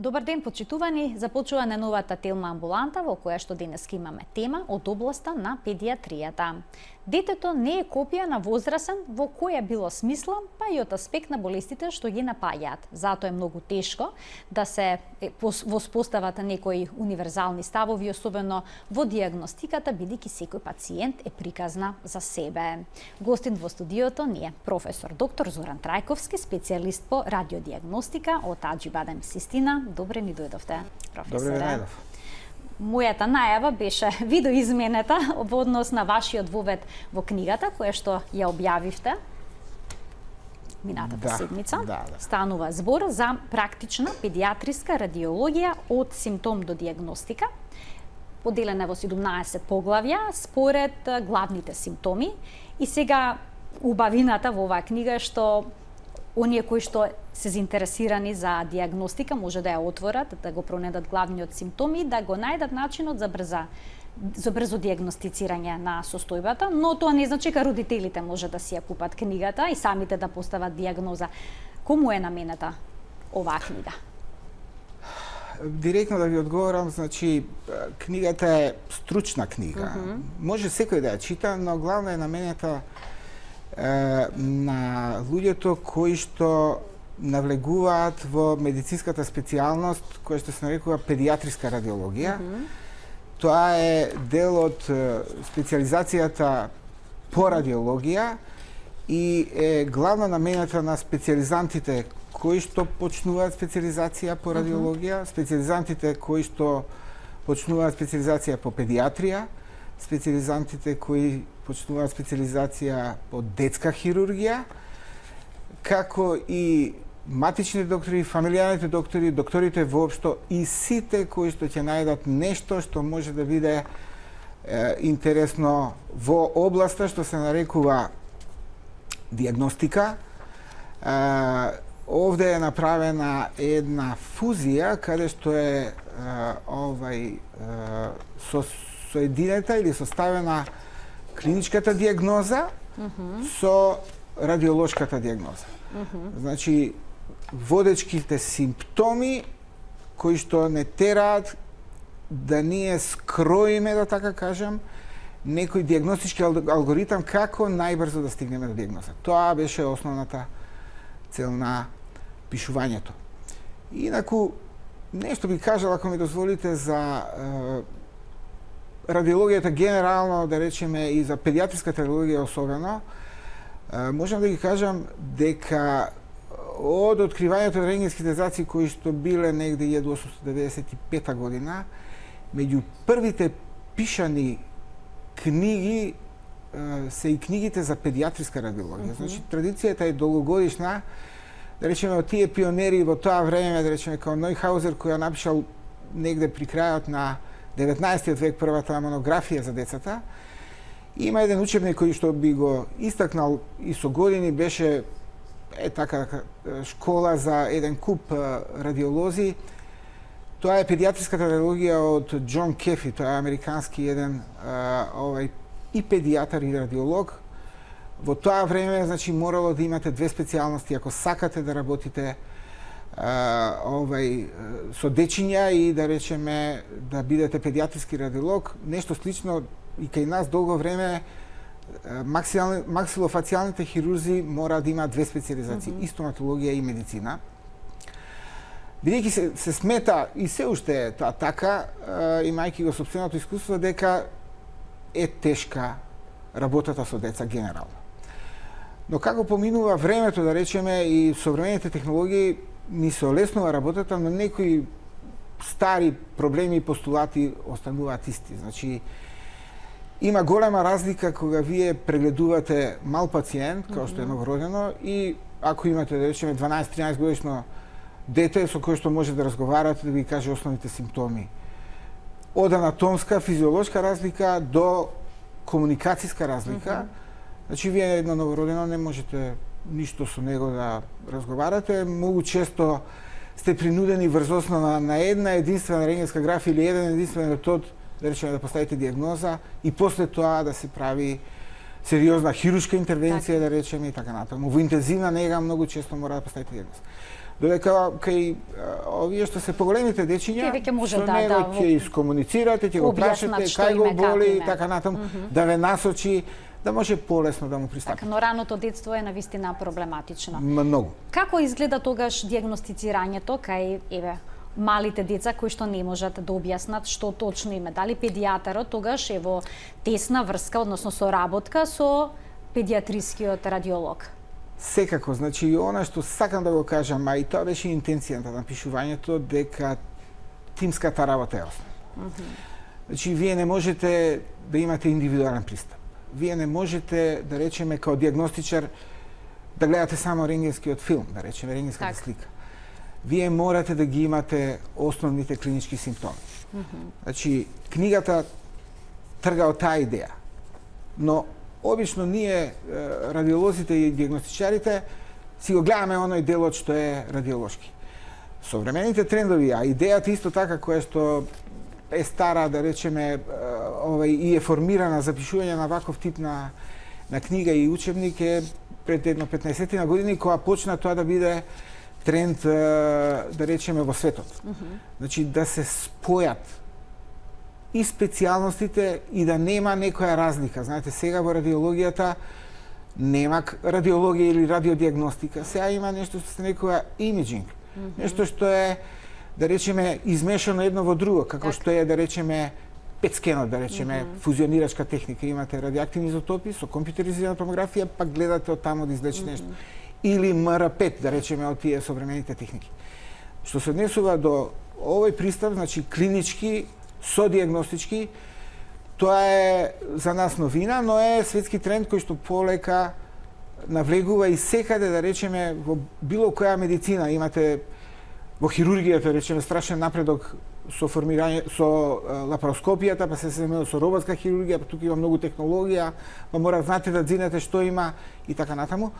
Добар ден, почитувани. Започува најновата телма амбуланта во која што денеска имаме тема од областа на педиатријата. Детето не е копија на возрасен во која било смисла, па и од аспект на болестите што ги напаѓаат. Затоа е многу тешко да се воспостават некои универзални ставови, особено во дијагностиката, бидејќи секој пациент е приказна за себе. Гостин во студиото ни е професор доктор Зоран Трајковски, специјалист по радиодијагностика од Аџибадем Систина. Добре ни дојдовте, професоре. Добре дојдов. Мојата најава беше видоизменета во однос на вашиот вовед во книгата, која што ја објавивте минатата седмица. Станува збор за практична педиатриска радиологија од симптом до дијагностика. Поделена во 17 поглавја според главните симптоми. И сега убавината во оваа книга е што оние кои што се заинтересирани за дијагностика може да ја отворат, да го пронедат главниот симптоми и да го најдат начинот за брзо дијагностицирање на состојбата, но тоа не значи дека родителите може да си ја купат книгата и самите да постават дијагноза. Кому е наменета оваа книга? Директно да ви одговорам, значи книгата е стручна книга. Може секој да ја чита, но главно е наменета на луѓето кои што навлегуваат во медицинската специјалност која што се нарекува педиатриска радиологија. Тоа е дел од специјализацијата по радиологија и е главна намената на специјализантите кои што почнуваат специјализација по радиологија, специјализантите кои што почнуваат специјализација по педиатрија, специјализантите кои почнуваат специјализација по детска хирургија, како и матични доктори, фамилијарните доктори, докторите воопшто и сите кои што ќе најдат нешто што може да биде интересно во областа што се нарекува дијагностика. Овде е направена една фузија каде што е соединета или составена клиничката дијагноза со радиолошката дијагноза. Значи, водечките симптоми кои што не тераат да ние скроиме, да така кажам, некој дијагностички алгоритам како најбрзо да стигнеме до дијагноза. Тоа беше основната цел на пишувањето. Инаку, нешто би кажал, ако ми дозволите, за радиологијата генерално, да речеме, и за педиатриската радиологија особено, можам да ги кажам дека од откривањето на рентгенските зраци кои што биле негде 1895 година, меѓу првите пишани книги се и книгите за педиатриска радиологија. Значи, традицијата е долгогодишна. Да речеме, од тие пионери во тоа време, да речеме, као Нојхаузер, кој ја напишал негде при крајот на 19 век првата монографија за децата. Има еден учебник кој што би го истакнал и со години, беше така школа за еден куп радиолози. Тоа е педиатриската радиологија од Џон Кефи, тоа е американски еден и педијатар и радиолог. Во тоа време, значи, морало да имате две специјалности ако сакате да работите со дечиња и да речеме да бидете педиатриски радиолог. Нешто слично и кај нас долго време максилофацијалните хирурзи мора да имаат две специјализации, и стоматологија и медицина. Бидејќи се смета и се уште е тоа така, имајќи го сопственото искуство, дека е тешка работата со деца генерално. Но како поминува времето, да речеме, и современите технологии ни се олеснува работата, но некои стари проблеми и постулати остануваат исти. Значи, има голема разлика кога вие прегледувате мал пациент, како што е новородено, и ако имате, да речеме, 12-13 годишно дете со кој што може да разговарате, да ви каже основните симптоми. Од анатомска, физиолошка разлика до комуникацијска разлика. Значи, вие едно новородено не можете ништо со него да разговарате. Многу често сте принудени врз основа на една единствена рентгенска графија или еден единствен метод, да речеме, да поставите дијагноза и после тоа да се прави сериозна хируршка интервенција, да речеме, и така натаму. Во интензивна нега многу често мора да поставите дијагноза. Додека кај овие што се поголемите дечиња, со него ќе искомуницирате, ќе го прашате кај го боли и така натаму, да ве насочи, да може полесно да му пристапи. Така, но раното детство е навистина проблематично. Многу. Како изгледа тогаш дијагностицирањето кај малите деца кои што не можат да објаснат што точно има? Дали педијатарот тогаш е во тесна врска, односно соработка со педијатрискиот радиолог? Секако, значи она што сакам да го кажам, а и тоа беше интенцијата на пишувањето, дека тимската работа е основа. Значи вие не можете да имате индивидуален пристап. Вие не можете, да речеме, као дијагностичар да гледате само рентгенскиот филм, да речеме рентгенската слика. Вие морате да ги имате основните клинички симптоми. Значи книгата трга од таа идеја, но обично ние, радиолозите и дијагностичарите, си го гледаме оној делот што е радиолошки. Современите трендови, а идејата исто така која што е стара, да речеме, и е формирана за пишување на ваков тип на книга и учебник е пред едно 15 години, кога почна тоа да биде тренд, да речеме, во светот. Значи, да се спојат и специјалностите и да нема некоја разлика. Знаете, сега во радиологијата нема радиологија или радиодиагностика. Сега има нешто што се нарекува имиджинг. Нешто што е, да речеме, измешано едно во друго, како што е, да речеме, петскенот, да речеме, фузионирачка техника. Имате радиоактивни изотопи со компјутеризирана томографија, пак гледате од таму да излечи нешто. Или МР5, да речеме, од тие современите техники. Што се однесува до овој пристап, значи клинички, содиагностички, тоа е за нас новина, но е светски тренд кој што полека навлегува и секаде, да речеме, во било која медицина. Имате во хирургијата, речеме, страшен напредок со формирање, со лапароскопијата, па се земе со роботска хирургија, па тука има многу технологија, па мора знаете да дзинете што има и така натаму.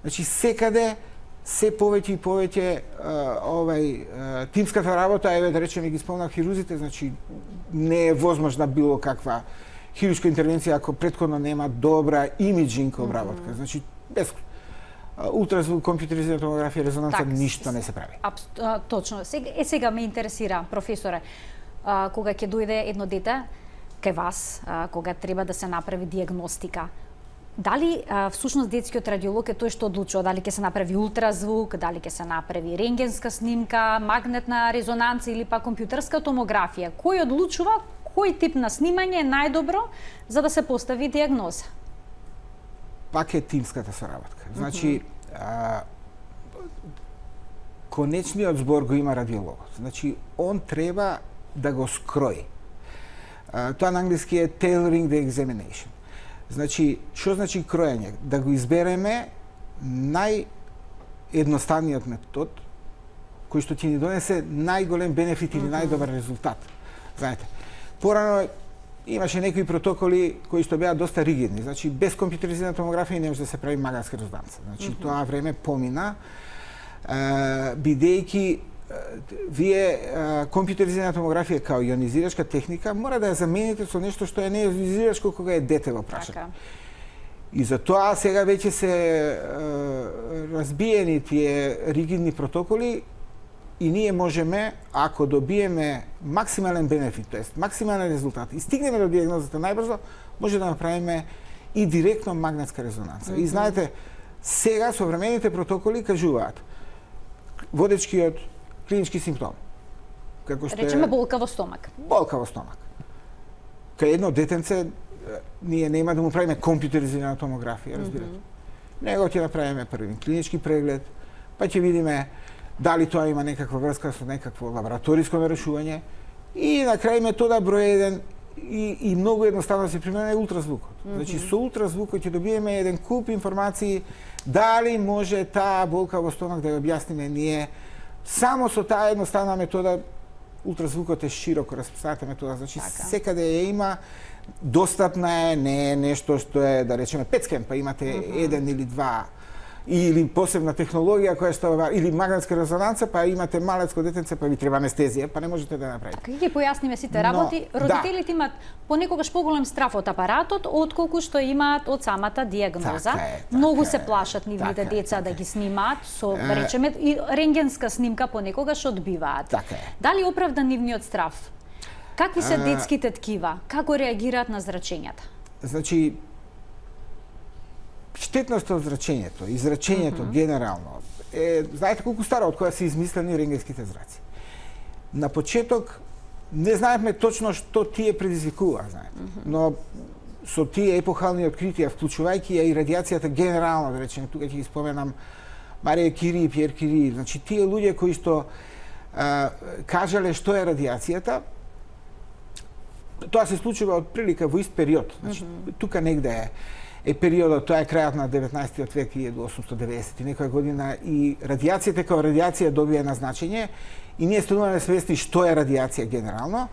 Значи секаде се повеќе и повеќе тимската работа, еве да речеме ги спомнав хирурзите, значи не е возможна било каква хируршка интервенција ако претходно нема добра имиджинг обработка. Значи без ултразвук, компјутеризирана томографија, резонанца, ништо не се прави. Точно. Сега ме интересира, професоре, кога ќе дојде едно дете кај вас, кога треба да се направи дијагностика, дали всушност детскиот радиолог е тој што одлучува дали ќе се направи ултразвук, дали ќе се направи рентгенска снимка, магнетна резонанца или па компјутерска томографија? Кој одлучува кој тип на снимање е најдобро за да се постави дијагноза? Пак е тимската соработка. Значи, конечниот збор го има радиологот. Значи, он треба да го скрои. Тоа на англиски е tailoring the examination. Значи, што значи кроење? Да го избереме наједноставниот метод кој што ќе ни донесе најголем бенефит или најдобар резултат. Знаете, порано имаше некои протоколи кои што беа доста ригидни. Значи, без компјутеризирана томографија не може да се прави магнетска резонанца. Значи, тоа време помина, бидејќи вие компјутеризирана томографија као ионизирачка техника мора да ја замените со нешто што е не ионизирачко кога е дете во прашање. И за тоа сега веќе се разбиени тие ригидни протоколи и ние можеме, ако добиеме максимален бенефит, тоест максимален резултат и стигнеме до дијагнозата најбрзо, може да направиме и директно магнетска резонанца. И знаете, сега современите протоколи кажуваат водечкиот клинички симптом. Како што речеме болка во стомак. Болка во стомак. Кај едно детенце ние нема да му правиме компјутеризирана томографија, разбирате. Него ќе направиме првин клинички преглед, па ќе видиме дали тоа има некаква врска со некакво лабораториско нарушување и на крај метода број 1 и многу едноставно се примена е ултразвукот. Значи со ултразвукот ќе добиеме еден куп информации дали може таа болка во стомак да ја објасниме ние само со таа едноставна метода. Ултразвукот е широко распространата метода, значи секаде ја има, достапна е, не е нешто што е, да речеме, петскен, па имате еден или два или посебна технологија која што или магнетска резонанца, па имате малецко детенце, па ви треба анестезија, па не можете да направите. Така ги појасниме сите работи. Родителите имаат понекогаш поголем страф од апаратот отколку што имаат од самата дијагноза. Многу се плашат нивните деца да ги снимаат со, речеме, и рентгенска снимка понекогаш одбиваат. Дали оправдан нивниот страф? Какви се детските ткива? Како реагираат на зрачењата? Значи, штетноста од зрачењето и зрачењето генерално знаете колку старо од кога се измислени рентгенските зраци. На почеток не знаевме точно што тие предизвикува, знаете. Но со тие епохални откритија, вклучувајќи ја и радиацијата генерално, да речеме, тука ќе ги споменам Марија Кюри и Пиер Кюри, значи тие луѓе кои што кажале што е радиацијата, тоа се случува од прилика во ист период. Значи, тука негде е периодот, тоа е крајот на 19 век, 1890 и некоја година, и радиацијата како радиација добија едно значење и ние стануваме свесни што е радиација генерално.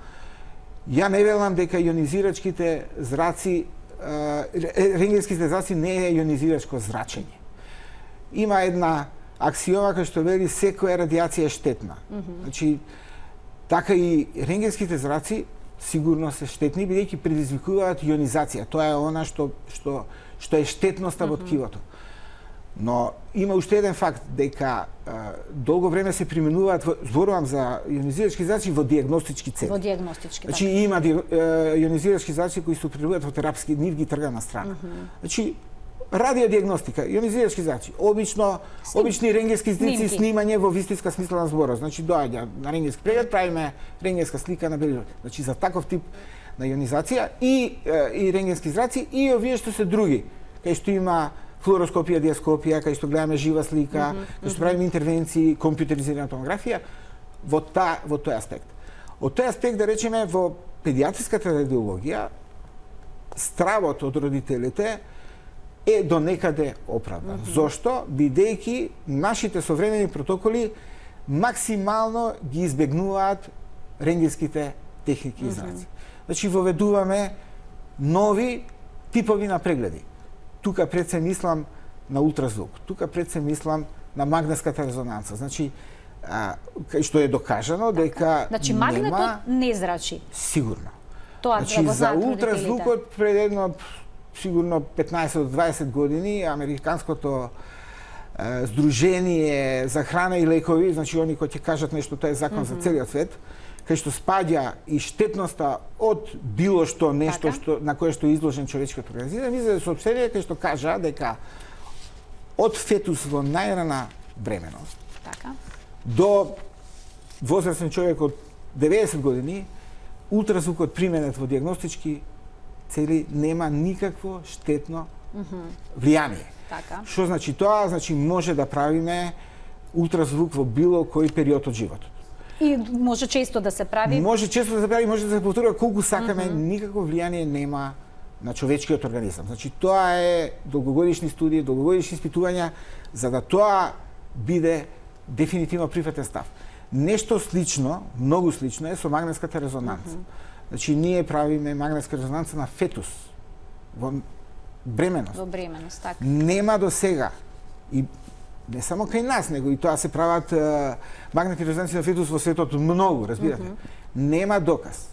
Ја не велам дека ионизирачките зраци, рентгенските зраци не е ионизирачко зрачење. Има една аксиома која што вели секоја радиација е штетна. Значи, така и рентгенските зраци сигурно се штетни, бидејќи предизвикуваат ионизација. Тоа е она што е штетноста во ткивото. Но има уште еден факт, дека долго време се применуваат, зборувам за ионизирачки зраци во дијагностички цели. Во дијагностички, значи, има ионизирачки зраци кои се употребуваат во терапски, нив ги трга на страна. Значи, радиодијагностика, ионизирачки зраци, обични рентгенски снимки, снимање во вистинска смисла на зборот. Значи, доаѓа на рентгенски преглед, правиме рентгенска слика на белилот. Значи, за таков тип на ионизација и рентгенски зраци и овие што се други, кај што има флуороскопија, диаскопија, кај што гледаме жива слика, кај што правиме интервенции, компјутеризирана томографија, во тој аспект. Од тој аспект, да речеме, во педиатриската радиологија, стравот од родителите е до некаде оправдан. Зошто? Бидејќи нашите современи протоколи максимално ги избегнуваат рентгенските техники и зраци. Значи, воведуваме нови типови на прегледи. Тука пред се мислам на ултразвук, тука пред се мислам на магнетската резонанца. Значи, кај што е докажано дека значи, магнетот не зрачи. Сигурно. Тоа значи, за ултразвукот пред едно сигурно 15 до 20 години Американското Сдружение за храна и лекови, значи они кои ќе кажат нешто, тоа е закон за целиот свет, кај што спаѓа и штетноста од било што нешто на кое што е изложен човечкиот организам, издаде соопштение кај што кажа дека од фетус во најрана бременост до возрастен човек од 90 години, ултразвукот применет во дијагностички цели нема никакво штетно влијание. Што значи тоа? Значи може да правиме ултразвук во било кој период од животот. И може често да се прави? Може често да се прави, може да се повторува колку сакаме, никакво влијание нема на човечкиот организам. Значи тоа е долгогодишни студии, долгогодишни испитувања за да тоа биде дефинитивно прифатен став. Нешто слично, многу слично е со магнетската резонанца. Значи, ние правиме магнетска резонанца на фетус во бременост. Во бременост, така. Нема до сега, и не само кај нас, него и тоа се прават магнетни резонанци на фетус во светот многу, разбирате. Нема доказ.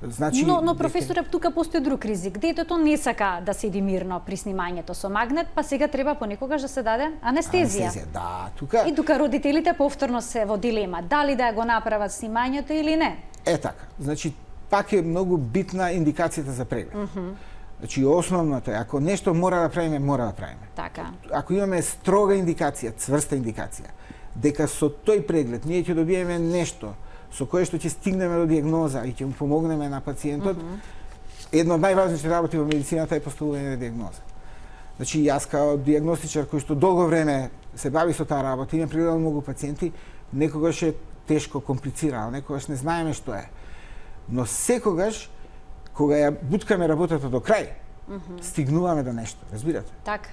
Значи, но професоре, тука постои друг ризик. Детето не сака да седи мирно при снимањето со магнет, па сега треба понекогаш да се даде анестезија. Да, тука. И тука родителите повторно се во дилема, дали да го направат снимањето или не. Е така. Значи, пак е многу битна индикацијата за преглед. Значи, основното е, ако нешто мора да правиме, мора да правиме. Така. Ако имаме строга индикација, цврста индикација, дека со тој преглед ние ќе добиеме нешто со кое што ќе стигнеме до дијагноза и ќе му помогнеме на пациентот, едно од најважните работи во медицината е поставување на дијагноза. Значи, јас као дијагностичар кој што долго време се бави со таа работа, имам прегледал многу пациенти, некогаш е тешко, комплицирано, некогаш не знаеме што е. Но секогаш, кога ја буткаме работата до крај, стигнуваме до нешто, разбирате? Така.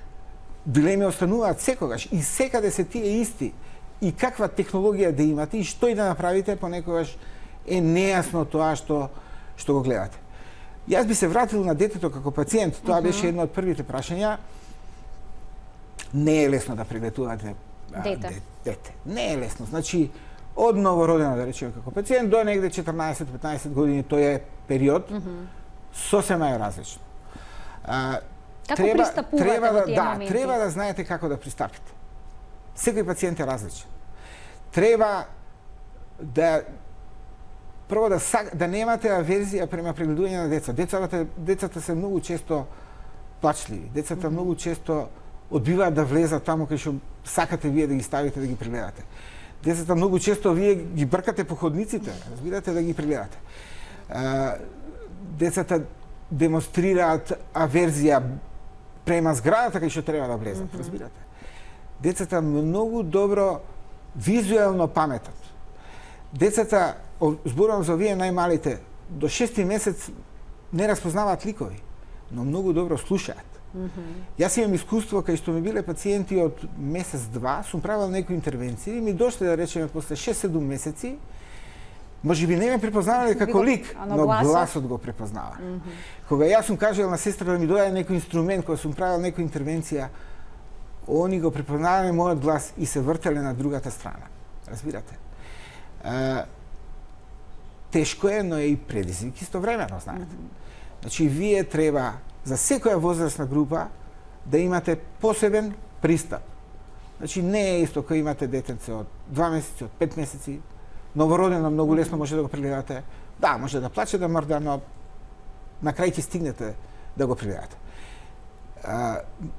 Дилеми остануваат секогаш и секаде се тие исти. И каква технологија да имате и што и да направите, понекогаш е нејасно тоа што го гледате. Јас би се вратил на детето како пациент, тоа беше едно од првите прашања. Не е лесно да прегледувате дете. Не е лесно. Значи, од новородено, да речеме, како пациент, до негде 14-15 години, тој е период, сосема е различно. Како пристапувате во тие моменти? Треба да знаете како да пристапите. Секој пациент е различен. Треба да прво да немате аверзија према прегледување на деца. Децата се многу често плачливи. Децата многу често одбиваат да влезат таму кај што сакате вие да ги ставите да ги прегледате. Децата многу често вие ги бркате по ходниците, разбирате, да ги прегледате. Децата демонстрираат аверзија према зградата кај што треба да влезат, разбирате. Децата многу добро визуелно паметат. Децата, зборувам за овие најмалите, до 6 месец не распознаваат ликови, но многу добро слушаат. Јас имам искуство кај што ми биле пациенти од месец-два, сум правил некои интервенции, ми дошле да речеме после 6-7 месеци, можеби не ме препознавале како лик, но гласот го препознава. Кога јас сум кажал на сестра да ми дојде некој инструмент, кога сум правил некоја интервенција, они го препознавале мојот глас и се вртеле на другата страна. Разбирате? Тешко е, но е и предизвик истовремено, знаете. Значи, вие треба за секоја возрастна група да имате посебен пристап. Значи, не е исто кога имате детенце од 2 месеци, од 5 месеци, новородено многу лесно може да го прегледате. Да, може да плаче, да мрда, но на крај ќе стигнете да го прегледате.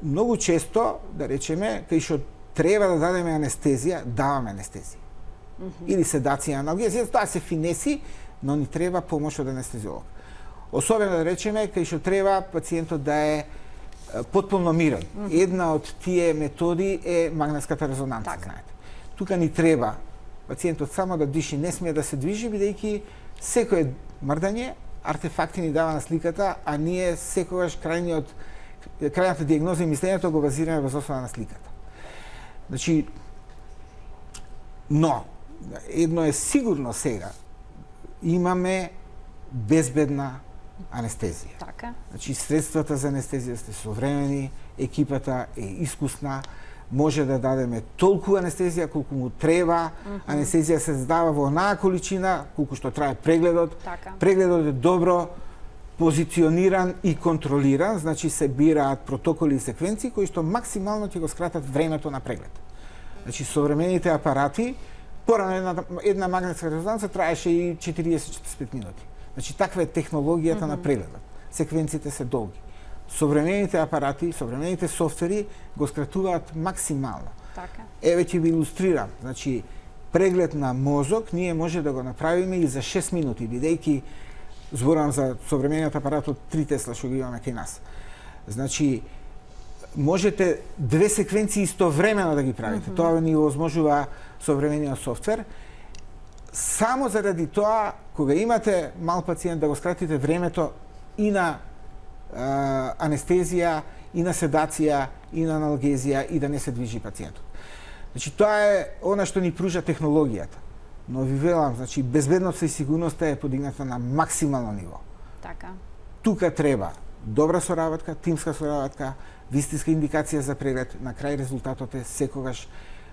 Многу често, да речеме, кај што треба да дадеме анестезија, даваме анестезија. Или седација, аналгезија, тоа се финеси, но ни треба помош од анестезиолог. Особено да речеме, кај што треба пациентот да е потполно мирен. Една од тие методи е магнетската резонанца, знаете. Тука ни треба пациентот само да диши, не смее да се движи, бидејќи секое мрдање артефакти ни дава на сликата, а ние секогаш крајната дијагноза и мислењето го базираме во основа на сликата. Значи, но едно е сигурно сега, имаме безбедна анестезија. Така. Значи, средствата за анестезија сте современи, екипата е искусна, може да дадеме толку анестезија колку му треба. Анестезија се дава во онаа количина колку што трае прегледот. Така. Прегледот е добро позициониран и контролиран, значи се бираат протоколи и секвенции кои што максимално ќе го скратат времето на преглед. Значи, современите апарати, порано една магнетска резонанца траеше и 40-45 минути. Значи, таква е технологијата на прегледот. Секвенциите се долги. Современите апарати, современите софтвери го скратуваат максимално. Така. Еве ќе ви илустрирам. Значи, преглед на мозок ние може да го направиме и за 6 минути, бидејќи зборувам за современиот апарат од 3 Тесла што го имаме кај нас. Значи, можете 2 секвенции истовремено да ги правите. Тоа ни овозможува современиот софтвер. Само заради тоа, кога имате мал пациент, да го скратите времето и на анестезија, и на седација, и на аналгезија, и да не се движи пациентот. Значи, тоа е она што ни пружа технологијата. Но ви велам, значи, безбедноста и сигурноста е подигната на максимално ниво. Така. Тука треба добра соработка, тимска соработка, вистинска индикација за преглед. На крај резултатот е секогаш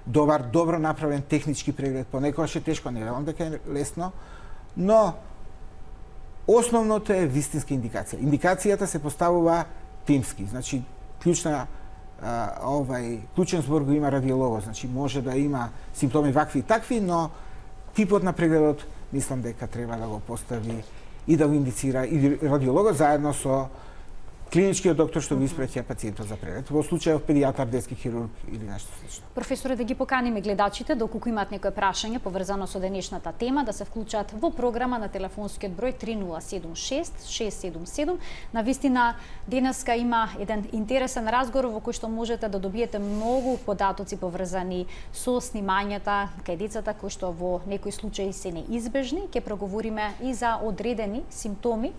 добро направен технички преглед. Понекогаш е тешко, не велам дека е лесно, но основното е вистинска индикација. Индикацијата се поставува тимски. Значи, клучен збор го има радиологот. Значи, може да има симптоми вакви и такви, но типот на прегледот мислам дека треба да го постави и да го индицира и радиологот заедно со клиничкиот доктор што го испраќа пациентот за преглед. Во случајот педијатар, детски хирург или нешто слично. Професоре, да ги поканиме гледачите, доколку имаат некое прашање поврзано со денешната тема, да се вклучат во програма на телефонскиот број 3076 677. Навистина, денеска има еден интересен разговор во кој што можете да добиете многу податоци поврзани со снимањата кај децата кои што во некои случаи се неизбежни. Ќе проговориме и за одредени симптоми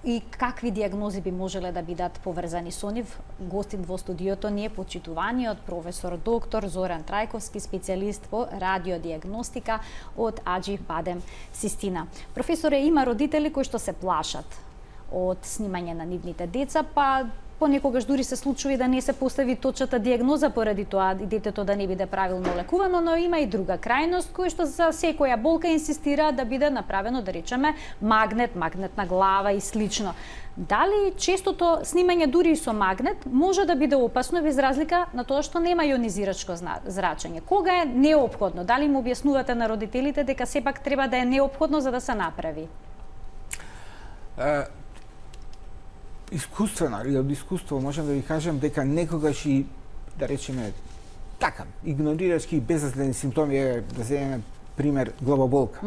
и какви дијагнози би можеле да бидат поврзани со нив. Гостин во студиото ни е почитуваниот професор доктор Зоран Трајковски, специјалист во радиодијагностика од Аџи Бадем Систина. Професоре, има родители кои што се плашат од снимање на нивните деца, па понекогаш дури се случува да не се постави точната дијагноза поради тоа и детето да не биде правилно лекувано, но има и друга крајност која што за секоја болка инсистира да биде направено, да речеме, магнетна глава и слично. Дали честото снимање дури и со магнет може да биде опасно без разлика на тоа што нема јонизирачко зрачење? Кога е неопходно? Дали им објаснувате на родителите дека сепак треба да е неопходно за да се направи? Искуствено или од искуство можам да ви кажам дека некогаш и, да речеме, така, игнорирачки безразледни симптоми, да земеме пример главоболка.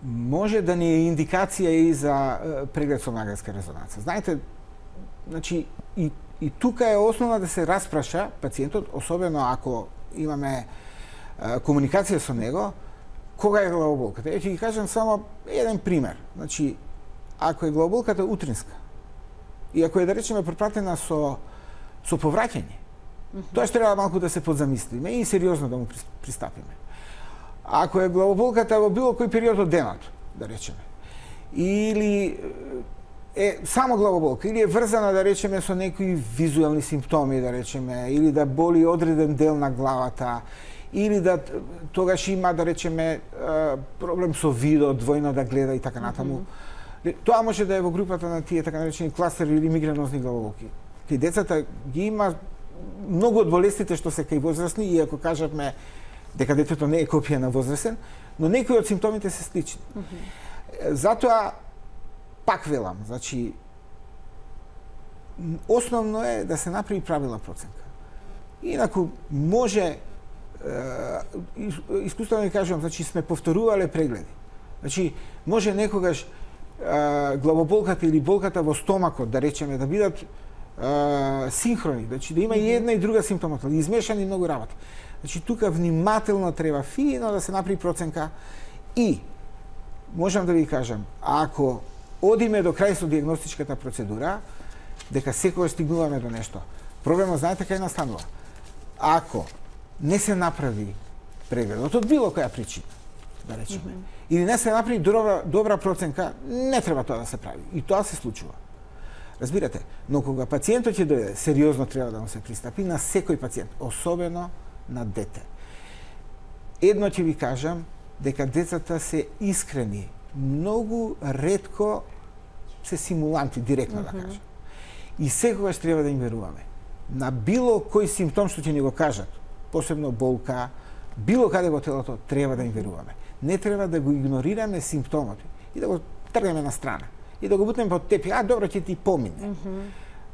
Може да ни е индикација и за преглед со магнетска резонанца. Знаете, значи, и тука е основа да се распраша пациентот, особено ако имаме комуникација со него, кога е главоболката. Ќе ги кажам само еден пример. Значи, ако е главоболката утринска и ако е, да речеме, препратена со повраќање, тоа што треба малку да се подзамислиме и сериозно да му пристапиме. Ако е главоболката во било кој период од денот, да речеме, или е само главоболка, или е врзана, да речеме, со некои визуелни симптоми, да речеме, или да боли одреден дел на главата, или да тогаш има, да речеме, проблем со видот, двојно да гледа и така натаму. Тоа може да е во групата на тие така наречени кластери или мигренозни главоболки. Кај децата ги има многу од болестите што се кај возрастни, иако кажавме дека детето не е копија на возрастен, но некои од симптомите се слични. Затоа, пак велам, значи, основно е да се направи правилна проценка. Инаку, може, искуствено ви кажувам, значи, сме повторувале прегледи. Значи, може некогаш главоболката или болката во стомакот, да речеме, да бидат синхрони, значи, да има и една и друга симптоматологија, измешани многу работи. Значи, тука внимателно треба фино да се направи проценка и, можам да ви кажам, ако одиме до крај со дијагностичката процедура, дека секогаш стигнуваме до нешто. Проблемот, знаете кај настанува? Ако не се направи прегледот од било која причина, да речеме, или не се направи добра проценка, не треба тоа да се прави. И тоа се случува. Разбирате, но кога пациентот ќе дојде, сериозно треба да му се пристапи на секој пациент, особено на дете. Едно ќе ви кажам, дека децата се искрени, многу ретко се симуланти, директно да кажам. И секогаш треба да им веруваме. На било кој симптом што ќе ни го кажат, посебно болка, било каде во телото, треба да им веруваме. Не треба да го игнорираме симптомот и да го тргнеме на страна. И да го бутнеме под тепих, добро, ќе ти помине.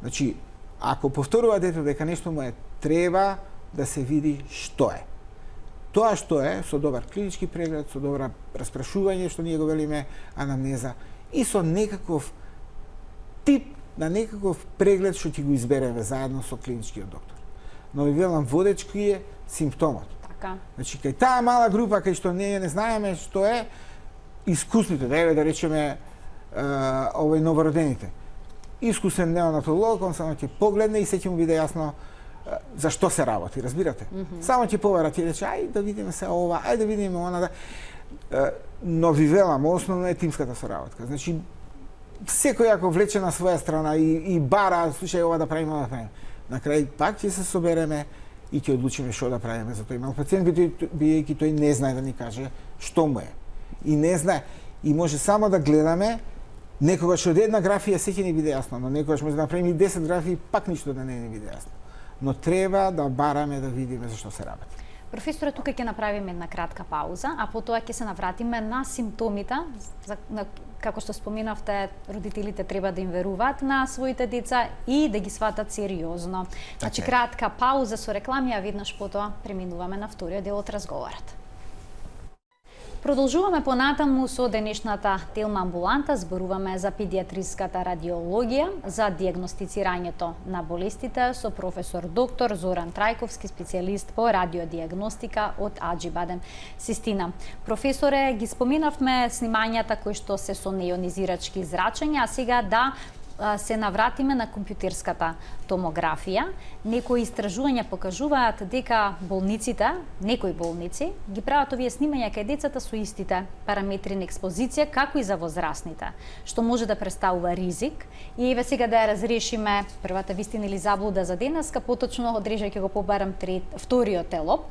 Значи, ако повторува дето дека нешто му е, треба да се види што е. Тоа што е, со добар клинички преглед, со добра распрашување, што ние го велиме анамнеза, и со некаков тип на некаков преглед што ќе го избереме заедно со клиничкиот доктор. Но ви велам, водечки е симптомот. Така. Значи, кај таа мала група, кај што ние не знаеме што е, искусните, да речеме, овој новородените. Искусен неонатолог, он само ќе погледне и се ќе му биде јасно за што се работи, разбирате? Само ќе повара, ќе рече, ај да видиме се ова, ај да видиме она, но ви велам, основно е тимската соработка. Значи, секој ако влече на своја страна и бара, слушај ова да правиме, ова да правиме, на крај пак ќе се собереме и ќе одлучиме што да правиме за тој мал пациент, бидејќи тој не знае да ни каже што му е. И не знае, и може само да гледаме, некогаш од една графија се ќе ни биде јасно, но некогаш може да направиме и 10 графии, пак ништо да не ни биде јасно. Но треба да бараме да видиме за што се работи. Професоре, тука ќе направиме една кратка пауза, а потоа ќе се навратиме на симптомите, како што споменавте, родителите треба да им веруваат на своите деца и да ги сватат сериозно. Значи, кратка пауза со реклами, а веднаш потоа преминуваме на вториот дел од разговорот. Продолжуваме понатаму со денешната телма амбуланта, зборуваме за педиатриската радиологија, за дијагностицирањето на болестите со професор доктор Зоран Трајковски, специјалист по радиодијагностика од Аџибадем Систина. Професоре, ги споменавме снимањата кои што се со неионизирачки зрачења, а сега да се навратиме на компјутерската томографија, некои истражувања покажуваат дека болниците, некои болници, ги прават овие снимања кај децата со истите параметри на експозиција како и за возрастните, што може да представува ризик. И еве сега да ја разрешиме првата вистина или заблуда за денеска, поточно одрежајќи го побарам вториот телоп.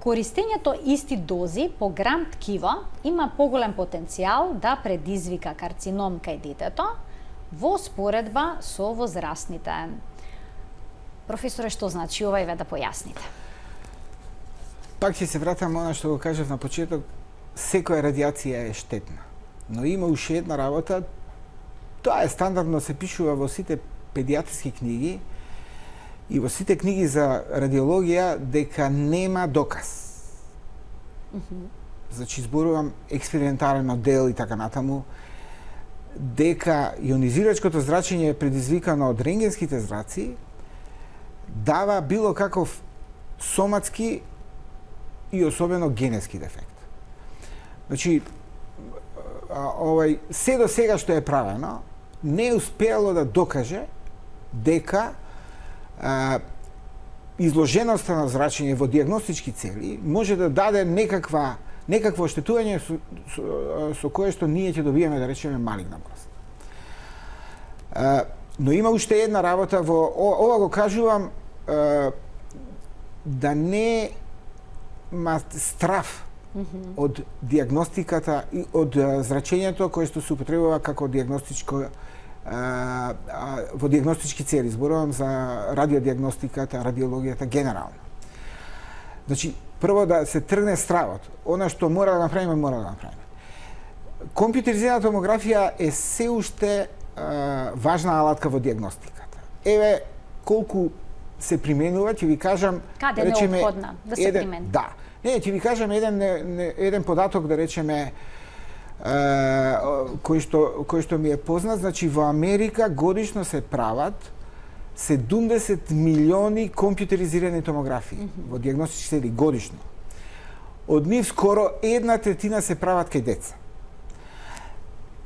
Користењето исти дози по грам ткиво има поголем потенцијал да предизвика карцином кај детето во споредба со возрастните. Професоре, што значи ова, еве да појасните? Пак ќе се вратам она што го кажав на почеток, секоја радиација е штетна. Но има уште една работа, тоа е стандардно се пишува во сите педијатриски книги и во сите книги за радиологија дека нема доказ. Значи, зборувам експериментален модел и така натаму, дека ионизирачкото зрачење предизвикано од рентгенските зраци дава било каков соматски и особено генетски дефект. Значи, се до сега што е правено, не е успеало да докаже дека изложеноста на зрачење во диагностички цели може да даде некакво оштетување со кое што ние ќе добиеме, да речеме, малигна болест. Но има уште една работа ова го кажувам да не страв од диагностиката и од зрачењето кое што се употребува како диагностичко во диагностички цели. Зборувам за радиодиагностиката, радиологијата генерално. Значи, прво да се тргне стравот. Она што мора да направиме, мора да направиме. Компјутеризирана томографија е се уште важна алатка во диагностиката. Еве колку се применува, ќе ви кажам, каде е неопходна да се примени? Да. Не, ќе ви кажам еден податок, да речеме, кој што ми е познат. Значи, во Америка годишно се прават 70 милиони компјутеризирани томографии во диагностички цели годишно. Од нив скоро 1/3 се прават кај деца.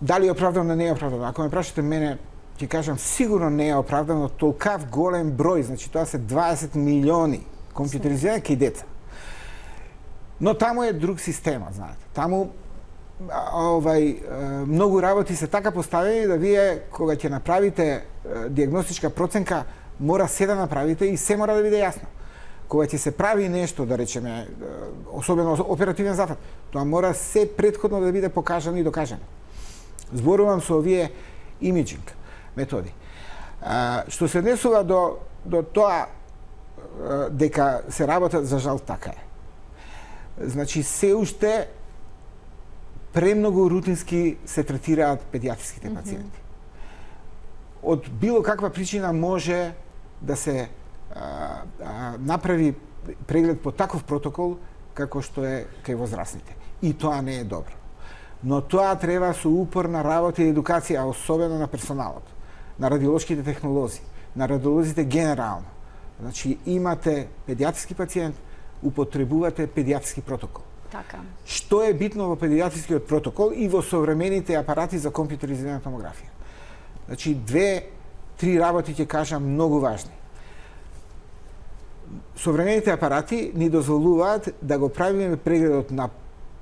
Дали е оправдано, не е оправдано? Ако ме прашате мене, ќе кажам сигурно не е оправдано толкав голем број, значи тоа се 20 милиони компјутеризирани кај деца. Но таму е друг системот, знаете. Таму многу работи се така поставени да вие кога ќе направите диагностичка проценка мора се да направите и се мора да биде јасно. Кога ќе се прави нешто, да речеме, особено оперативен зафат, тоа мора се претходно да биде покажано и докажано. Зборувам со овие имиджинг методи. Што се однесува до тоа дека се работат, за жал така е. Значи, се уште премногу рутински се третираат педиатриските пациенти. Од било каква причина може да се направи преглед по таков протокол како што е кај возрастните. И тоа не е добро. Но тоа треба со упорна работа и едукација, особено на персоналот, на радиолошките технолози, на радиолозите генерално. Значи, имате педиатриски пациент, употребувате педиатриски протокол. Така. Што е битно во педиатрискиот протокол и во современите апарати за компјутеризирана томографија? Значи, 2-3 работи ќе кажам многу важни. Современите апарати ни дозволуваат да го правиме прегледот на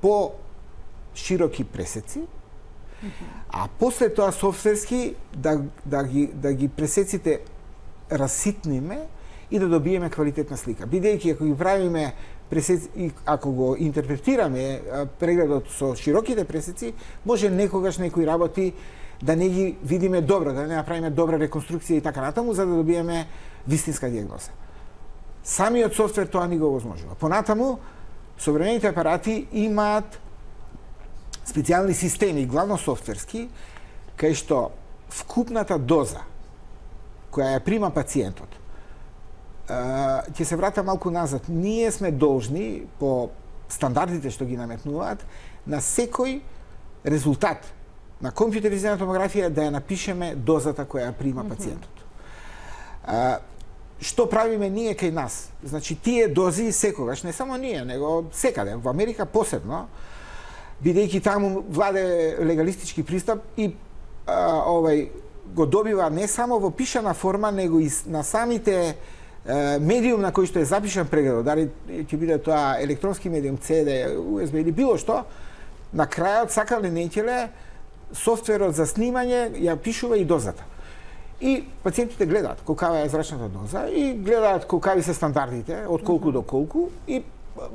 по-широки пресеци, а после тоа софтверски да ги пресеците раситниме и да добиеме квалитетна слика. Бидејќи ако ги правиме пресеци, ако го интерпретираме прегледот со широките пресеци, може некогаш некои работи да не ги видиме добро, да не направиме добра реконструкција и така натаму, за да добиеме вистинска диагноза. Самиот софтвер тоа ни го овозможува. Понатаму, современите апарати имаат специјални системи, главно софтверски, кај што вкупната доза која ја прима пациентот, ќе се врата малку назад. Ние сме должни, по стандардите што ги наметнуваат, на секој резултат на компјутеризирана томографија да ја напишеме дозата која ја прима пациентот. Што правиме ние кај нас? Значи, тие дози секогаш, не само ние, него секаде, во Америка посебно, бидејќи таму владе легалистички пристап и го добива не само во пишана форма, него и на самите медиум на кој што е запишан прегледот, дали ќе биде тоа електронски медиум, CD, USB или било што, на крајот сакале не ќеле, софтверот за снимање ја пишува и дозата. И пациентите гледаат колкава е зрачната доза и гледаат колкави се стандардите, од колку до колку, и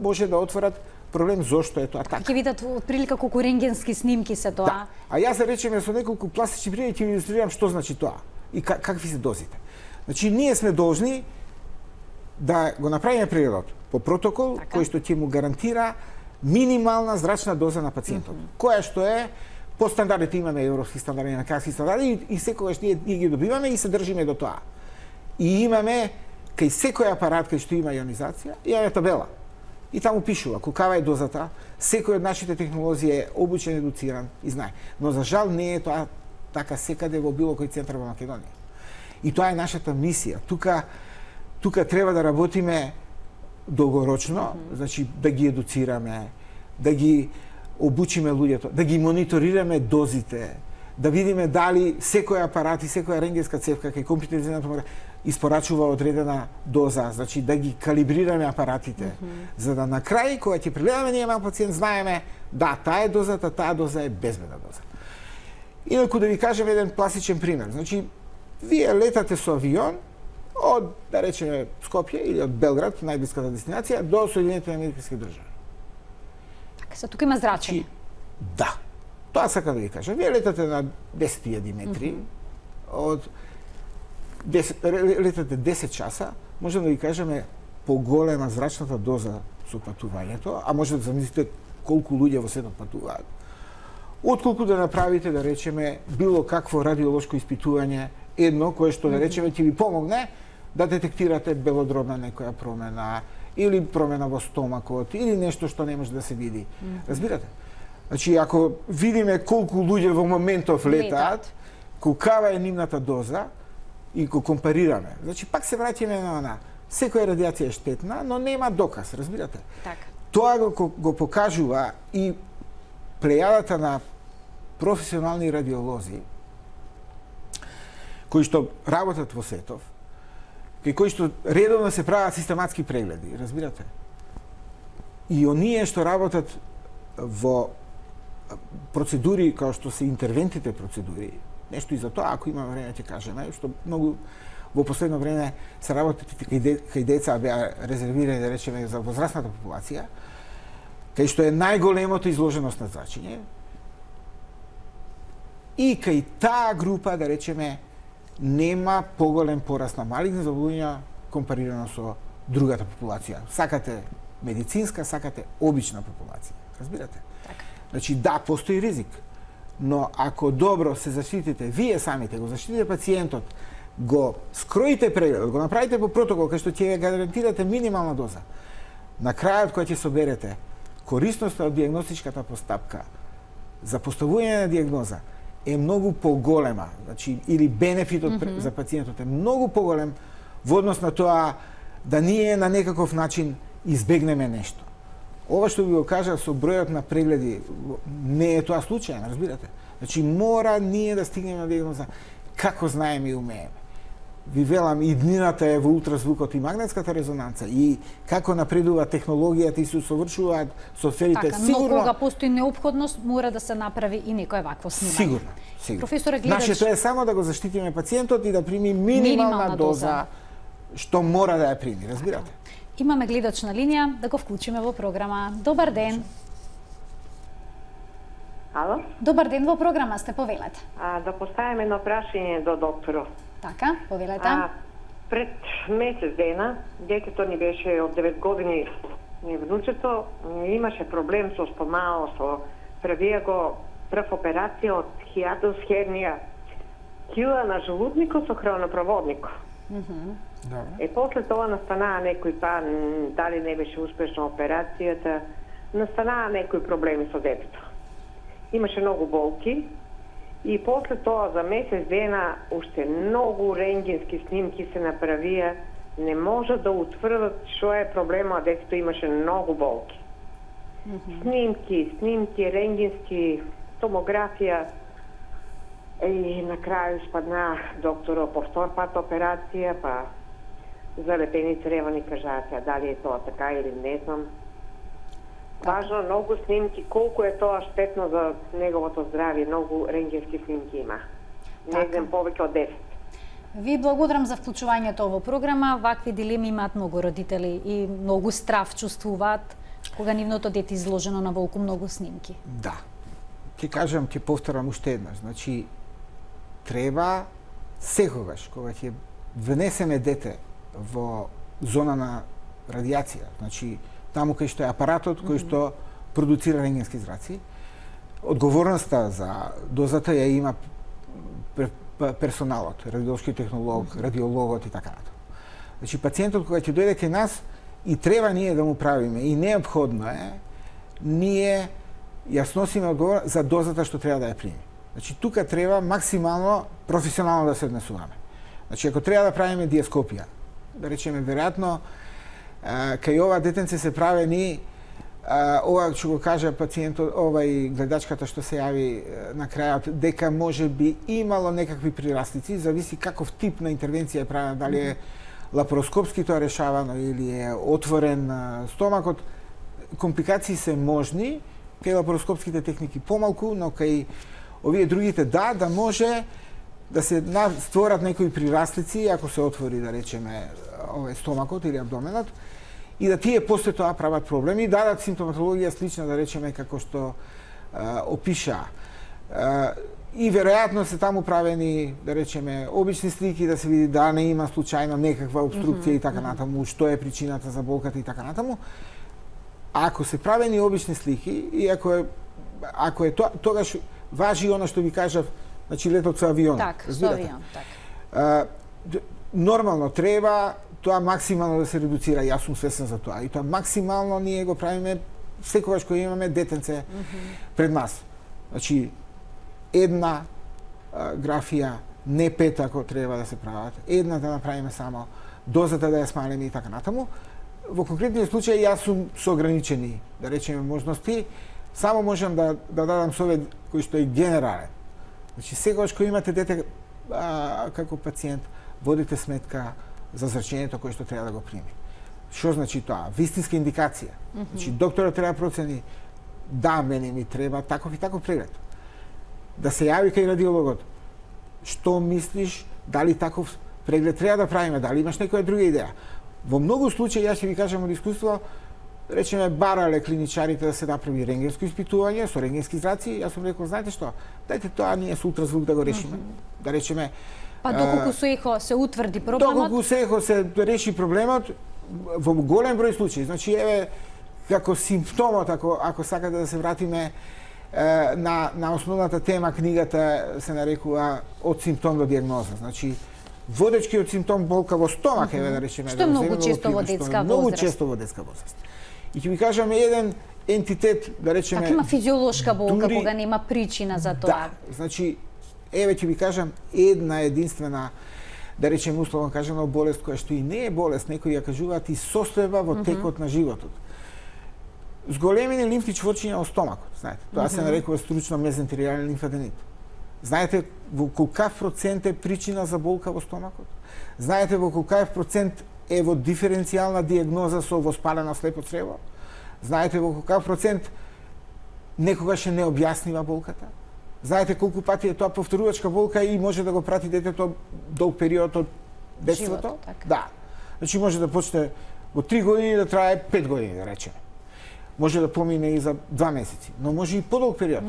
може да отворат проблем зошто е тоа така. Ќе видат отприлика колку рентгенски снимки се тоа. Да. А јас да речеме со неколку пластични примери ќе ви илустрирам што значи тоа и какви се дозите. Значи ние сме должни да го направиме прегледот по протокол кој што ќе му гарантира минимална зрачна доза на пациентот, која што е по стандардите, имаме европски стандарди, американски стандарди и секогаш ние ги добиваме и се држиме до тоа. И имаме кај секој апарат кај што има ионизација, имаме табела. И таму пишува колкава е дозата, секој од нашите технолози е обучен, едуциран и знае. Но за жал не е тоа така секаде во било кој центар во Македонија. И тоа е нашата мисија. Тука треба да работиме долгорочно, значи да ги едуцираме, да ги обучиме луѓето, да ги мониторираме дозите, да видиме дали секој апарат и секоја рентгенска цевка кај компјутеризираната томографија испорачува одредена доза, значи да ги калибрираме апаратите, за да на крај кога ќе прегледаме ние мал пациент знаеме да таа е дозата, таа доза е безбедна доза. Инаку да ви кажем еден класичен пример, значи вие летате со авион од, да речеме, Скопје или од Белград, најблиската дестинација, до Соединетите американски држави. Така, се тука има зрачење. Да. Тоа сакам да ви кажам. Вие летате на 10.000 метри, летате 10 часа, можем да ви кажеме поголема зрачната доза со патувањето, а може да замислите колку луѓе во светот патуваат. Отколку да направите, да речеме, било какво радиолошко испитување, едно кое што, да речеме, ќе ви помогне да детектирате белодробна некоја промена, или промена во стомакот, или нешто што не може да се види. Разбирате? Значи, ако видиме колку луѓе во моментов летаат, колкава е нивната доза, и го компарираме, значи, пак се враќаме на она. Секоја радиација е штетна, но нема доказ, разбирате? Така. Тоа го покажува и плејадата на професионални радиолози, кои што работат во светов, кои што редовно се прават систематски прегледи, разбирате? И оние што работат во процедури како што се интервентните процедури, нешто и за тоа, ако имаме време ќе кажеме, што многу во последно време се работат кај деца беа резервирани, да речеме, за возрастната популација, кај што е најголемото изложеност на зрачење, и кај таа група, да речеме, нема поголем пораст на малигни заболувања компарирано со другата популација. Сакате медицинска, сакате обична популација. Разбирате? Така. Значи, да, постои ризик, но ако добро се заштитите, вие самите, го заштитите пациентот, го скроите прегледот, го направите по протокол, кај што ќе гарантирате минимална доза, на крајот кој ќе соберете корисноста од диагностичката постапка за поставување на диагноза е многу поголема, значи, или бенефитот за пациентот е многу поголем во однос на тоа да ние на некаков начин избегнеме нешто. Ова што ви го кажа со бројот на прегледи, не е тоа случајно, разбирате? Значи, мора ние да стигнеме на диагноза како знаеме и умееме. Ви велам, и днината е во ултразвукот и магнетската резонанца, и како напредува технологијата и се усовршуваат софтверите, така, сигурно... но кога постои неопходност, мора да се направи и некој вакво снимање. Сигурно. Професоре, гледач... Нашето е само да го заштитиме пациентот и да прими минимална доза што мора да ја прими, разбирате? Имаме гледач на линија, да го вклучиме во програма. Добар ден. Ало? Добар ден, во програма сте, повелете. Да поставим едно прашање до докторот. Така, повелете. Пред месец дена, детето ни беше од 9 години, внучето, имаше проблем со стомао, правија го прв операција од хијадус хернија, кила на желудникот со хронопроводник. После тоа настанаа некои дали не беше успешна операцијата, настанаа некои проблеми со детето. Имаше многу болки и после тоа за месец дена уште многу рентгенски снимки се направија, не може да утврдат што е проблема, детето имаше многу болки. Снимки, рентгенски, томографија И на крају спадна докторо по втор пат операција, па залепени цревани кажаат, дали е тоа така или не знам. Важно, многу снимки, колку е тоа штетно за неговото здравје, многу рентгенски снимки има. Не знам повеќе од 10. Ви благодарам за вклучувањето во програма. Вакви дилеми имаат многу родители и многу страв чувствуваат кога нивното дете изложено на волку многу снимки. Да. Ќе кажам, ќе повторам уште еднаш. Значи, треба секогаш кога ќе внесеме дете во зона на радиација, значи таму кај што е апаратот кој што продуцира рентгенски зраци, одговорноста за дозата ја има персоналот, радиолошки технолог, радиологот и така натаму. Значи пациентот кога ќе дојде кај нас и треба ние да му правиме и неопходно е ние ја сносиме одговорност за дозата што треба да ја прими. Значи тука треба максимално професионално да се однесуваме. Значи ако треба да правиме диаскопија, да речеме веројатно кај ова детенце се правени ова ќе го кажа пациентот, овај гледачката што се јави на крајот, дека може би имало некакви прирастици, зависи каков тип на интервенција е правена, дали е лапароскопски тоа решавано или е отворен стомакот. Компликации се можни, кај лапароскопските техники помалку, но кај овие другите да може да се створат некои прирастици, ако се отвори, да речеме, овој стомакот или абдоменот, и да тие после тоа прават проблеми и дадат симптоматологија слична, да речеме, како што опиша. И веројатно се таму правени, да речеме, обични слики, да се види да не има случајно некаква обструкција и така натаму, што е причината за болката и така натаму. Ако се правени обични слики и ако е тоа, тогаш важи она што ви кажав, значи летот со авион. Так, со авион, так. Нормално треба тоа максимално да се редуцира, јас сум свесен за тоа. И тоа максимално ние го правиме секогаш кога имаме детенце пред нас. Значи, една графија, не 5 ако треба да се прават, една да направиме само, дозата да ја смалиме и така натаму. Во конкретниот случај јас сум со ограничени, да речеме, можности, само можам да дадам совет кој што е генерален. Значи, секогаш кога имате дете како пациент, водите сметка за зрачењето кое што треба да го прими. Што значи тоа? Вистинска индикација. Значи, докторот треба да процени, да, мене ми треба таков и таков преглед. Да се јави кај радиологот. Што мислиш, дали таков преглед треба да правиме, дали имаш некоја друга идеја? Во многу случаи, јас ќе ви кажам од искуство, речеме, барале клиничарите да се направи рентгенско испитување со рентгенски зраци, јас сум рекол, знаете што, дајте тоа ние со ултразвук да го решиме. Да речеме, па доколку со ехо се утврди проблемот? Доколку со ехо се реши проблемот, во голем број случаи. Значи, еве, како симптомот, ако сакате да се вратиме на основната тема, книгата се нарекува од симптом до диагноза. Значи, водечкиот симптом болка во стомак, еве да речеме. Што е многу често во детска возраст. Многу често во детска возраст. И ќе ви кажам еден ентитет, да речеме... Така има физиолошка болка кога нема причина за тоа. Да, значи, еве ќе ви кажам една единствена, да речеме условно кажано, болест која што и не е болест, некои ја кажуваат и состојба во текот на животот. Зголемени лимфни чворчиња во стомакот, знаете. Тоа се нарекува стручно мезентеријален лимфаденит. Знаете во колкав процент е причина за болка во стомакот? Знаете во колкав процент е во диференцијална диагноза со воспалено слепо црево? Знаете во колкав процент некогаш е необјаснива болката? Знаете колку пати е тоа повторувачка болка и може да го прати детето долг период од детството? Да. Значи може да почне во 3 години да трае 5 години, да речеме. Може да помине и за 2 месеци, но може и подолг период.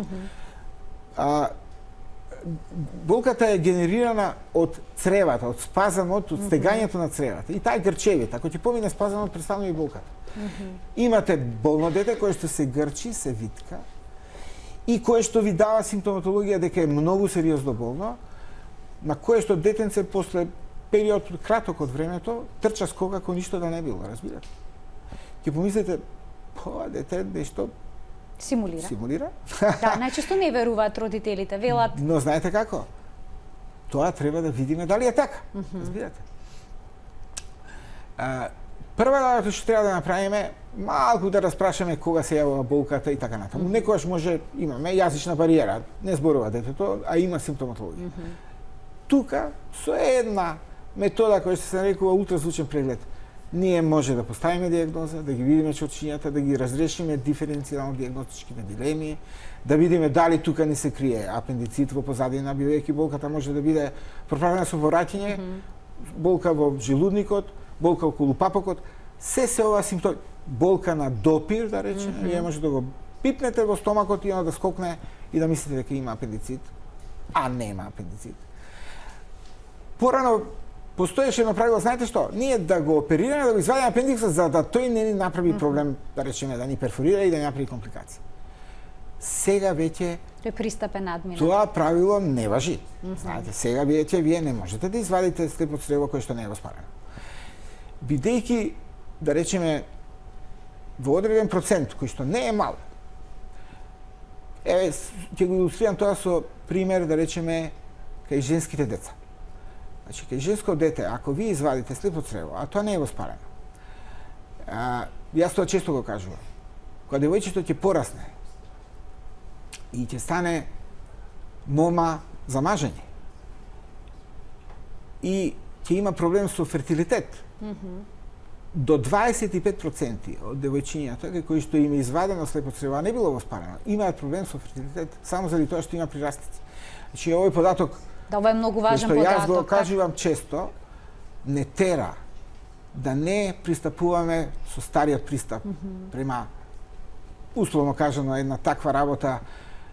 Болката е генерирана од цревата, од спазамот, од стегањето на цревата. И таа е грчевит. Ако ќе помине спазамот, престанува и болката. Имате болно дете кое што се грчи, се витка и кое што ви дава симптоматологија дека е многу сериозно болно, на кое што детенце после период краток од времето трча скока како ништо да не било, разбирате? Ќе помислите, дете нешто симулира? Да, најчесто не веруваат родителите, велат. Но знаете како? Тоа треба да видиме дали е така. Разбирате? Прва работа што треба да направиме, малку да распрашаме кога се јавува болката и така натаму. Некогаш може имаме јазична бариера, не зборува детето, а има симптоматологија. Тука со една метода која се нарекува ултразвучен преглед, ние може да поставиме дијагноза, да ги видиме чорчињата, да ги разрешиме диференцијално дијагностичките дилеми, да видиме дали тука не се крие апендицит во позадина, бидејќи болката може да биде проправена со повраќање, болка во желудникот, болка околу папокот, се ова симптоми. Болка на допир, да речеме, вие може да го пипнете во стомакот и да скокне и да мислите дека има апендицит, а нема апендицит. Порано постоеше едно правило, знаете што? Ние да го оперираме, да го извадиме апендиксот за да тој не ни направи проблем, да речеме, да ни перфорира и да ни направи компликации. Сега веќе тој пристапен надмина. Тоа правило не важи. Знаете, сега вие не можете да извадите слепо црево кое што не е воспалено. Бидејќи, да речеме, во одреден процент, кој што не е мал, ќе го илустрирам тоа со пример, да речеме, кај женските деца. Значи, кај женско дете, ако ви извадите слепо црево, а тоа не е воспалено, јас тоа често го кажувам, кога девојчето ќе порасне и ќе стане мома за мажење и ќе има проблем со фертилитет, до 25% од девојчињата кои што им е извадено слепо црево, а не било воспалено, имаат проблем со фертилитет само заради тоа што има прирастици. Значи, овој податок, да, ова е многу важен податок. Јас го кажувам често, не тера да не пристапуваме со стариот пристап према, условно кажано, една таква работа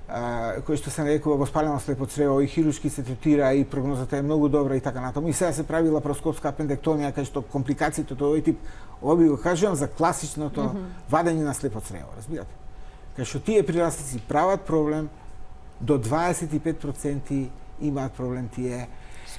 кој што се нарекува воспалено слепо црево и хируршки се третира и прогнозата е многу добра и така натаму. И сега се прави лапароскопска апендектомија кај што компликациите од овој тип, ова би го кажувам за класичното вадење на слепо црево, разбирате? Кај што тие прирастици прават проблем, до 25% имаат проблем тие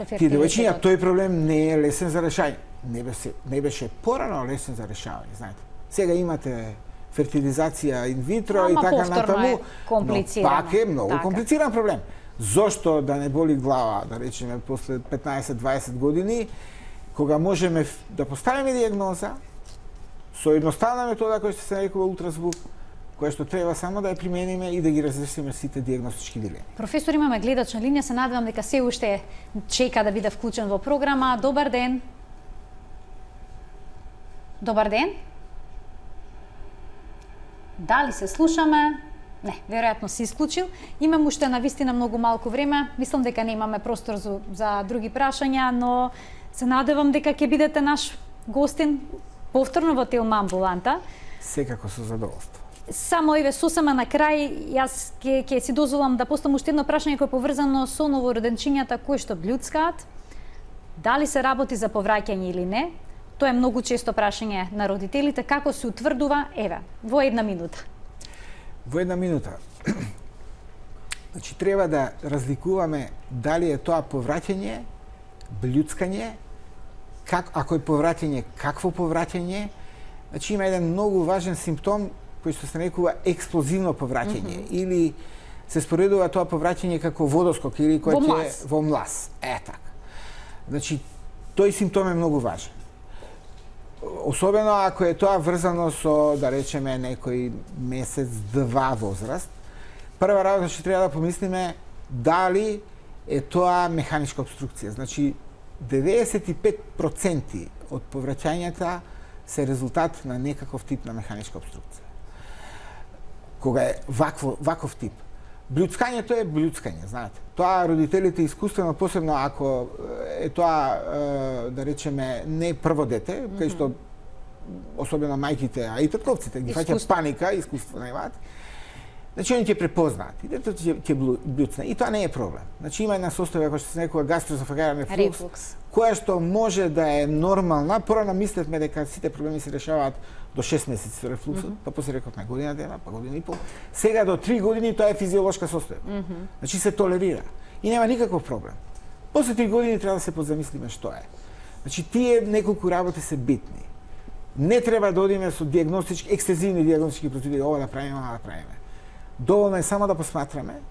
девојчиња. Тој проблем не е лесен за решање. Не беше порано лесен за решавање, знаете. Сега имате фертилизација инвитро и така натаму, но пак е многу комплициран проблем. Зошто да не боли глава, да речеме, после 15-20 години, кога можеме да поставиме дијагноза со едноставна метода која што се нарекува ултразвук, која што треба само да ја примениме и да ги разрешиме сите дијагностички дилеми. Професор, имаме гледач на линија, се надевам дека се уште чека да биде вклучен во програма. Добар ден. Добар ден. Дали се слушаме? Не, веројатно се исклучил. Имам уште навистина многу малку време. Мислам дека немаме простор за други прашања, но се надевам дека ќе бидете наш гостин повторно во Телма амбуланта. Секако со задоволство. Само еве сосема на крај, јас ќе си дозволам да поставам уште едно прашање кој е поврзано со новороденчињата кои што блюцкаат. Дали се работи за повраќање или не? Тоа е многу често прашање на родителите. Како се утврдува? Еве, во една минута. Во една минута. Значи, треба да разликуваме дали е тоа повраќање, блюцкање, ако е повраќање, какво повраќање. Значи, има еден многу важен симптом кој што се нарекува експлозивно повраќање, или се споредува тоа повраќање како водоскок или кој е во млас. Така. Значи, тој симптом е многу важен. Особено ако е тоа врзано со, да речеме, некој месец-два возраст, прва работа што треба да помислиме дали е тоа механичка обструкција. Значи, 95% од повраќањата се резултат на некаков тип на механичка обструкција. Кога е ваков тип. Блюцкањето е блюцкање, знаете. Тоа родителите искуствено, посебно ако е тоа, да речеме, не прво дете, кај што особено мајките, а и татковците ги фаќа паника, искуство немаат. Значи, они ќе препознаат и детето ќе блюцне. И тоа не е проблем. Значи, има една состојба која што се нарекува гастроесофагален рефлукс, која што може да е нормална. Порано мислевме дека сите проблеми се решаваат до 6 месеци со рефлуксот, па после реков на година дена, па година и пол. Сега до 3 години тоа е физиолошка состојба. Значи, се толерира и нема никаков проблем. После 3 години треба да се позамислиме што е. Значи, тие неколку работи се битни. Не треба да одиме со дијагностички, екстензивни дијагностички процедури, ова да правиме, ова да правиме. Доволно е само да посматраме.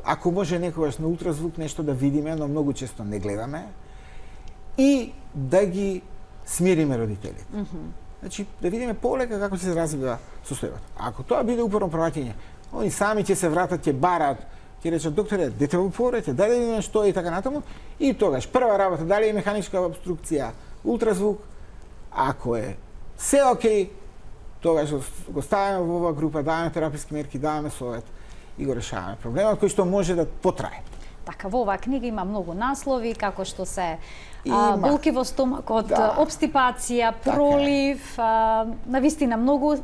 Ако може некогаш на ултразвук нешто да видиме, но многу често не гледаме, и да ги смириме родителите. Значи, да видиме полека како ќе се развива состојбата. Ако тоа биде упорно праќање, они сами ќе се вратат, ќе барат, ќе речат докторе, дете во порете, да видиме што и така натаму, и тогаш прва работа дали е механичка обструкција, ултразвук, ако е се окей, тогаш го ставаме во оваа група, даваме тераписки мерки, даваме совет и го решаваме проблемот кој што може да потрае. Така, во оваа книга има многу наслови, како што се болки во стомакот, обстипација, пролив, навистина многу.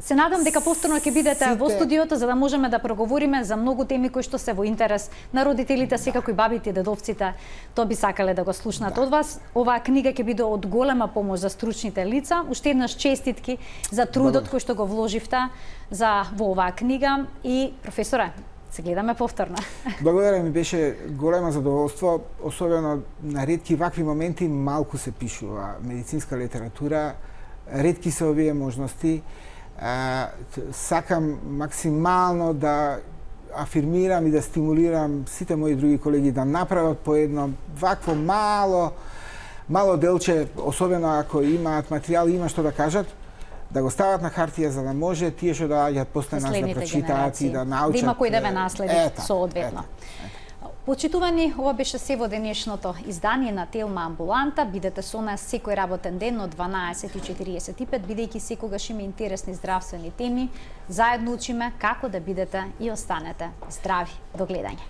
Се надам дека повторно ќе бидете во студиото за да можеме да проговориме за многу теми кои што се во интерес на родителите, секако и бабите и дедовците. Тоа би сакале да го слушнат од вас. Оваа книга ќе биде од голема помош за стручните лица. Уште еднаш честитки за трудот кој што го вложивте во оваа книга и професоре, се гледаме повторно. Благодарам, ми беше големо задоволство, особено на ретки вакви моменти малку се пишува медицинска литература, ретки се овие можности. Сакам максимално да афирмирам и да стимулирам сите мои други колеги да направат по едно вакво мало делче, особено ако имаат материјал и има што да кажат, да го стават на хартија за да може тие што доаѓаат после нас да прочитаат и да научат. Да има кој да ве наследи соодветно. Почитувани, ова беше се во денешното издание на Телма Амбуланта. Бидете со нас секој работен ден од 12:45, бидејќи секогаш има интересни здравствени теми. Заедно учиме како да бидете и останете здрави. До гледање.